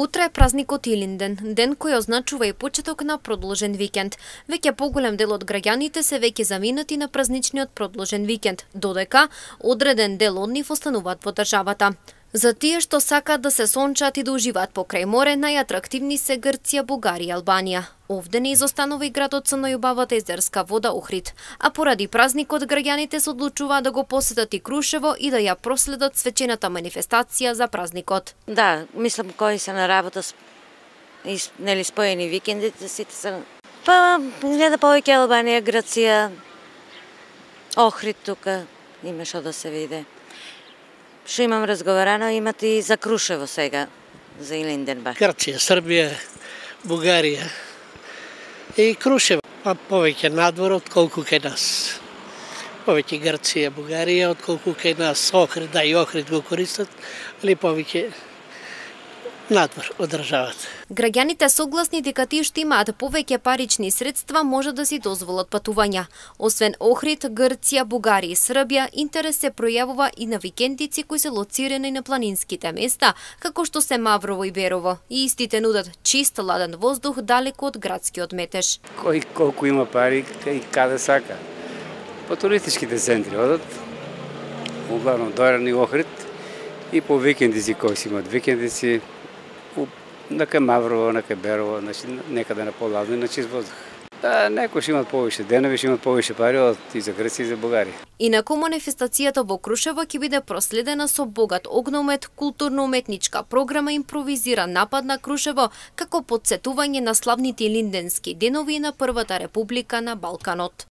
Утре е празникот Илинден, ден кој означува и почеток на продолжен викенд. Веќе поголем дел од граѓаните се веќе заминати на празничниот продолжен викенд, додека одреден дел од нив остануваат во државата. За тие што сакаат да се сончат и да уживаат покрај море, најатрактивни се Грција, Бугарија и Албанија. Овде не изостанува и градот со најубавата езерска вода Охрид, а поради празникот граѓаните се одлучуваат да го посетат и Крушево и да ја проследат свечената манифестација за празникот. Да, мислам кои се на работа нели споени викендите, сите се гледа повеќе Албанија, Грција, Охрид тука има што да се види. Што имам разговарано, имате и за Крушево сега, за Илинденбах. Грција, Србија, Бугарија и Крушево. А повеќе надвор отколку кај нас. Повеќе Грција, Бугарија отколку кај нас. Охрид, да и Охрид го користат, али повеќе надвор од државата. Граѓаните согласни дека тие што имаат повеќе парични средства може да си дозволат патувања. Освен Охрид, Грција, Бугарија и Србија, интерес се пројавува и на викендици кои се лоцирани на планинските места, како што се Маврово и Берово. И истите нудат чист, ладен воздух далеку од градскиот метеж. Кој колку има пари и каде сака. По туристичките центри одат, углавном дојдени Охрид и по викендици кои си имат викендици, на Маврово, на Берово, значи некаде на поладно и на чист воздух. Да, некои ще имат повише денови, ще имат повише пари од и за Грција и за Бугарија. Инаку манифестацијата во Крушево ќе биде проследена со богат огномет, културно-уметничка програма, импровизиран напад на Крушево како потсетување на славните илинденски денови на Првата република на Балканот.